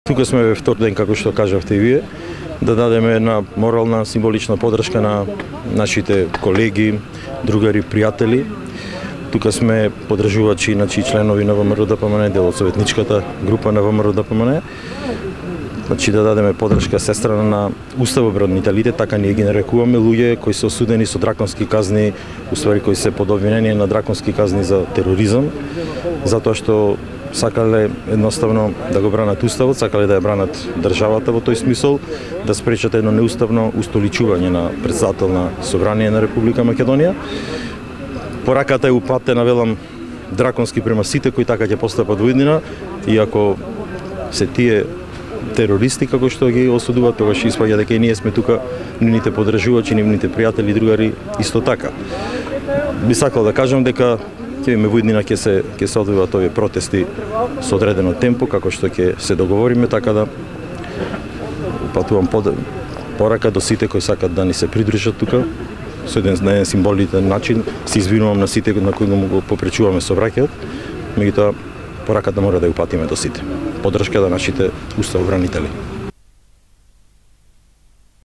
Тука сме втор ден, како што кажавте и вие, да дадеме една морална, символична подршка на нашите колеги, другари, пријатели. Тука сме подржувачи, значи членови на ВМРО-ДПМН, дел од советничката група на ВМРО-ДПМН. Значи да дадеме подршка се страна на уставобранителите, така ние ги нарекуваме, луѓе кои се осудени со драконски казни, уствари кои се под обвинение на драконски казни за тероризам, затоа што сакале едноставно да го бранат уставот, сакале да ја бранат државата во тој смисол, да спречат едно неуставно устоличување на председател на Собрание на Република Македонија. Пораката е упатена, велам, драконски према сите кои така ќе постапат во иднина, иако се тие терористи како што ги осудуваат, тогаш испаѓа дека и ние сме тука, нивните подржувачи, нивните пријатели, другари исто така. Би сакал да кажам дека ќе имаме во иднина ќе се одвиваат овие протести со одредено темпо, како што ќе се договориме, така да упатувам порака до сите кои сакат да ни се придружат тука, со еден символитен начин. Се извинувам на сите на кои го попречуваме сообраќајот, меѓутоа пораката мора да ја упатиме до сите. Подршка до нашите уставобранители.